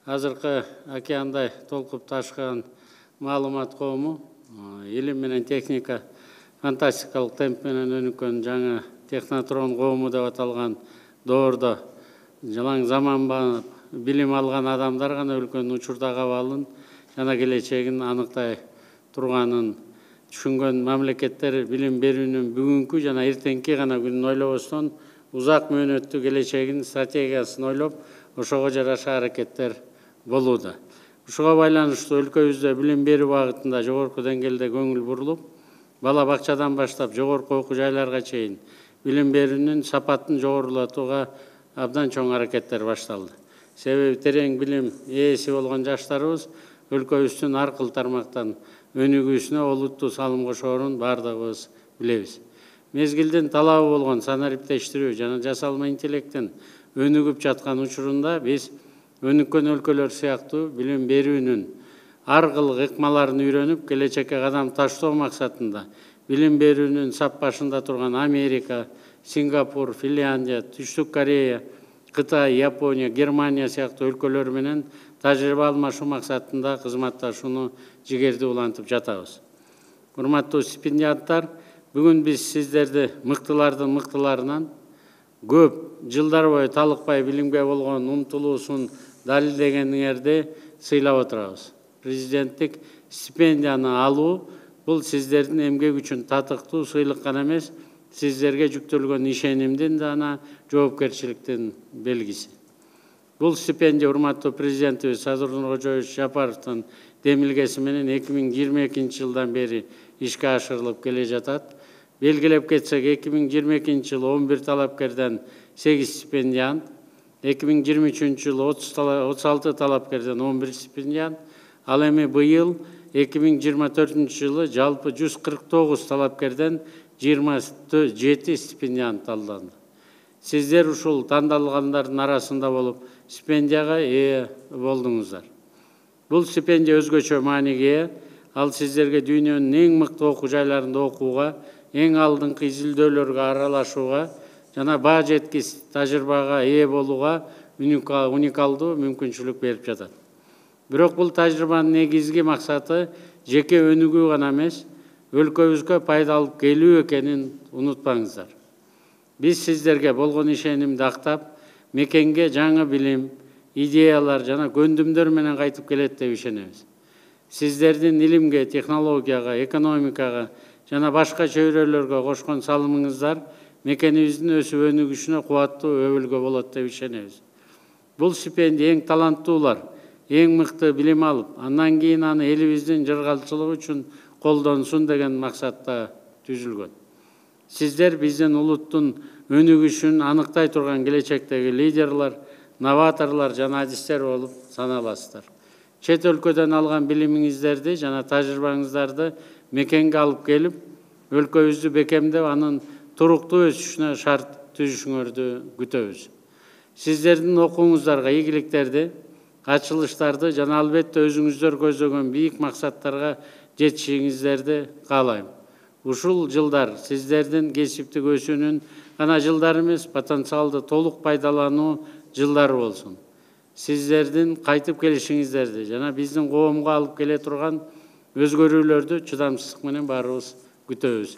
азыркы океандай толкуп ташкан маалымат коому, илим менен техника фантастикалык темп менен өнүккөн жаңы технотрон коому деп аталган доордо жалаң заманбап билим алган адамдар гана өлкөнүн учурдагы абалын жана келечегин аныктай турганын түшүнгөн мамлекеттер билим берүүнүн бүгүнкү жана эртеңки гана күнүн ойлобостон узак мөөнөттүү келечегин стратегиясын ойлоп ошого жараша аракеттер болууда. Ушуга байланыштуу өлкөбүздө билим берүү багытында жогорку деңгээлде көңүл бурулуп, бала бакчадан баштап жогорку окуу жайларга чейин билим берүүнүн сапатын жогорулатууга абдан чоң аракеттер башталды. Себеби терең билим ээси болгон жаштарыбыз өлкөбүздүн ар кыл тармактан өнүгүүсүнө олуттуу салым кошоорун бардыгыбыз билебиз. Мезгилдин талабы болгон санариптештирүү жана жасалма интеллекттин өнүгүп жаткан учурунда биз өнүккөн өлкөлөр сыяктуу билим берүүнүн ар кыл ыкмаларын үйрөнүп, келечекке кадам таштоо максатында билим берүүнүн сап башында турган Америка, Сингапур, Финляндия, Түштүк Корея, Кытай, Япония, Германия сыяктуу өлкөлөр менен тажрыйба алмашуу максатында кызматташууну жигердүү улантып жатабыз. Урматтуу стипендианттар, бүгүн биз сиздерди мыктылардын мыктыларынан көп жылдар бою талыкпай билимге болгон умтулуусун далилдегениңерди сыйлап отурабыз. Президенттик стипендияны алуу бул сиздердин эмгек үчүн татыктуу сыйлык гана эмес, сиздерге жүктөлгөн ишенимдин жана жоопкерчиликтин белгиси. Бул стипендия урматтуу президентибиз Садыр Нуркожоевич Жапаровдун демилгеси менен 2022 жылдан бери ишке ашырылып келе жатат. Белгилеп кетсек, 2022 жылы 11 талапкерден 8 стипендиант, 2023 жылы 36 талапкерден 11 стипендиант, ал эми быйыл 2024 жылы жалпы 149 талапкерден 27 стипендиант талданды. Сиздер ушул тандалгандардын арасында болуп, стипендияга ээ болдуңуздар. Бул стипендия өзгөчө мааниге ээ. Ал сиздерге дүйнөнүн эң мыкты окуу жайларында окууга, эң алдыңкы изилдөөлөргө аралашууга жана баа жеткис тажрыйбага ээ болууга уникалдуу мүмкүнчүлүк берип жатат. Бирок бул тажрыйбанын негизги максаты жеке өнүгүү гана эмес, өлкөбүзгө пайда алып келүү экенин унутпаңыздар. Биз сиздерге болгон ишенимди актап, мекенге жаңы билим, идеялар жана көндүмдөр менен кайтып келет деп ишенебиз. Сиздердин илимге, технологияга, экономикага жана башка чөйрөлөргө кошкон салымыңыздар мекенибиздин өсүп өнүгүшүнө кубаттуу өбөлгө болот деп ишенебиз. Бул стипендия эң таланттуулар, эң мыкты билим алып, андан кийин аны элибиздин жыргалчылыгы үчүн колдонсун деген максатта түзүлгөн. Сиздер биздин улуттун өнүгүшүн аныктай турган келечектеги лидерлар, новаторлор жана адистер болуп саналасыздар. Чет өлкөдөн алган билимиңиздерди жана тажрыйбаңыздарды мекенге алып келип, өлкөбүздү бекемдеп, анын туруктуу өсүшүнө шарт түзүшүңөрдү күтөбүз. Сиздердин окууңуздарга ийгиликтерди, ачылыштарды жана албетте өзүңүздөр көздөгөн бийик максаттарга жетишиңиздерди каалайм. Ушул жылдар сиздердин кесиптик өсүүнүн гана жылдары эмес, потенциалды толук пайдалануу жылдары болсун. Сиздердин кайтып келишиңиздерди жана биздин коомго алып келе турган өзгөрүүлөрдү чыдамсыздык менен баарыбыз күтөбүз.